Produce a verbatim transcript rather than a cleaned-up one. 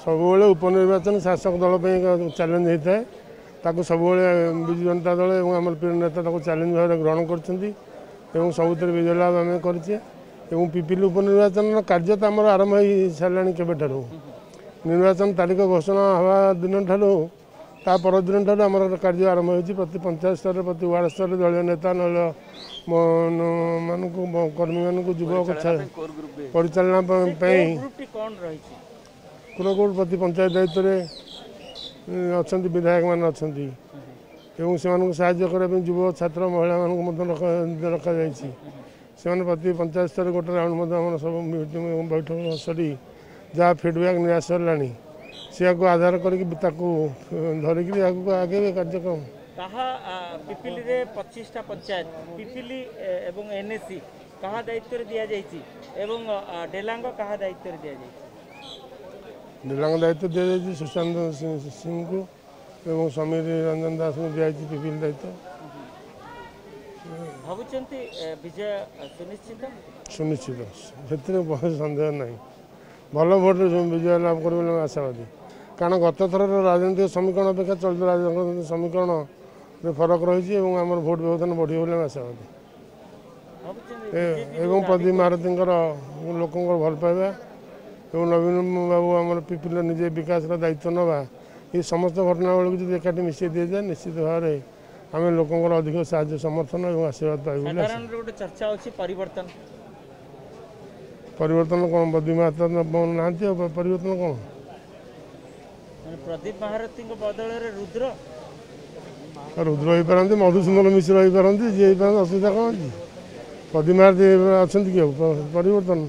ସବୁବେଳେ ଉପନିର୍ବାଚନ ଶାସକ ଦଳ ପାଇଁ ଏକ ଚ୍ୟାଲେଞ୍ଜ ହେଇଥାଏ। ତାକୁ ସବୁବେଳେ ବିଜୁ ଜନତା ଦଳ ଏବଂ ଆମର ପ୍ରିୟ ନେତା ତାକୁ ଚ୍ୟାଲେଞ୍ଜ ଭାବରେ ଗ୍ରହଣ କରିଛନ୍ତି ଏବଂ ସବୁଥିରେ ବିଜୟ ଲାଭ ଆମେ କରିଛେ। ଏବଂ ପିପିଲି ଉପନିର୍ବାଚନର କାର୍ଯ୍ୟ ତ ଆମର ଆରମ୍ଭ ହେଇସାରିଲାଣି କେବେଠାରୁ। ନିର୍ବାଚନ ତାରିଖ ଘୋଷଣା ହେବା ଦିନଠାରୁ ତା ପରଦିନଠାରୁ ଆମର କାର୍ଯ୍ୟ ଆରମ୍ଭ ହୋଇଛି। ପ୍ରତି ପଞ୍ଚାୟତ ସ୍ତରରେ, ପ୍ରତି ୱାର୍ଡ଼ ସ୍ତରରେ ଦଳୀୟ ନେତା, ଦଳୀୟ ମାନଙ୍କୁ, କର୍ମୀମାନଙ୍କୁ, ଯୁବକ ପରିଚାଳନା ପାଇଁ କ'ଣ ରହିଛି? କୋର ପ୍ରତି ପଞ୍ଚାୟତ ଦାୟିତ୍ୱରେ ଅଛନ୍ତି, ବିଧାୟକମାନେ ଅଛନ୍ତି ଏବଂ ସେମାନଙ୍କୁ ସାହାଯ୍ୟ କରିବା ପାଇଁ ଯୁବ, ଛାତ୍ର, ମହିଳାମାନଙ୍କୁ ମଧ୍ୟ ରଖାଯାଇଛି। ସେମାନେ ପ୍ରତି ପଞ୍ଚାୟତ ସ୍ତରରେ ଗୋଟେ ରାଉଣ୍ଡ ମଧ୍ୟ ଆମର ସବୁ ମିଟିଂ ବୈଠକ ସରି ଯାହା ଫିଡ଼ବ୍ୟାକ୍ ନିଆ ସରିଲାଣି, ସେୟାକୁ ଆଧାର କରିକି ତାକୁ ଧରିକିରି ଆଗକୁ ଆଗେଇବେ କାର୍ଯ୍ୟକ୍ରମ। କାହା ପିପିଲିରେ ପଚିଶଟା ପଞ୍ଚାୟତ, ପିପିଲି ଏବଂ ଏନ୍ଏସି କାହା ଦାୟିତ୍ୱରେ ଦିଆଯାଇଛି ଏବଂ ଡେଲାଙ୍ଗ କାହା ଦାୟିତ୍ୱରେ ଦିଆଯାଇଛି? ଡେଲାଙ୍ଗ ଦାୟିତ୍ୱ ଦିଆଯାଇଛି ସୁଶାନ୍ତ ସିଂଙ୍କୁ ଏବଂ ସମୀର ରଞ୍ଜନ ଦାସଙ୍କୁ ଦିଆଯାଇଛି ପିପିଲି ଦାୟିତ୍ୱ। ଭାବୁଛନ୍ତି ବିଜୟ ସୁନିଶ୍ଚିତ? ସୁନିଶ୍ଚିତ, ସେଥିରେ ସନ୍ଦେହ ନାହିଁ। ଭଲ ଭୋଟରେ ବିଜୟ ଲାଭ କରିବ ବୋଲି ଆମେ ଆଶାବାଦୀ। କାରଣ ଗତ ଥରର ରାଜନୈତିକ ସମୀକରଣ ଅପେକ୍ଷା ଚଳିତ ରାଜନୈତିକ ସମୀକରଣରେ ଫରକ ରହିଛି ଏବଂ ଆମର ଭୋଟ ବ୍ୟବଧାନ ବଢ଼ିବ ବୋଲି ଆମେ ଆଶାବାଦୀ। ଏବଂ ପ୍ରଦୀପ ମହାରଥୀଙ୍କର ଲୋକଙ୍କର ଭଲ ପାଇବା ଏବଂ ନବୀନ ବାବୁ ଆମର ପିପିଲିର ନିଜେ ବିକାଶର ଦାୟିତ୍ୱ ନେବା, ଏ ସମସ୍ତ ଘଟଣାବଳୀକୁ ଯଦି ଏକାଠି ମିଶାଇ ଦିଆଯାଏ, ନିଶ୍ଚିତ ଭାବରେ ଆମେ ଲୋକଙ୍କର ଅଧିକ ସାହାଯ୍ୟ, ସମର୍ଥନ ଏବଂ ଆଶୀର୍ବାଦ ପାଇବୁ ବୋଲି। ଗୋଟେ ଚର୍ଚ୍ଚା ଅଛି ପରିବର୍ତ୍ତନ। ପରିବର୍ତ୍ତନ କ'ଣ? ପ୍ରଦୀପ ମହାରଥୀ ନାହାନ୍ତି, ଆଉ ପରିବର୍ତ୍ତନ କ'ଣ? ପ୍ରଦୀପ ମହାରଥୀଙ୍କ ବଦଳରେ ରୁଦ୍ର? ରୁଦ୍ର ହେଇପାରନ୍ତି, ମଧୁସୂଦନ ମିଶ୍ର ହେଇପାରନ୍ତି, ଯିଏ ହେଇପାରନ୍ତି, ଅସୁବିଧା କ'ଣ ଅଛି? ପ୍ରଦୀପ ମହାରଥୀ ଅଛନ୍ତି କି ଆଉ ପରିବର୍ତ୍ତନ?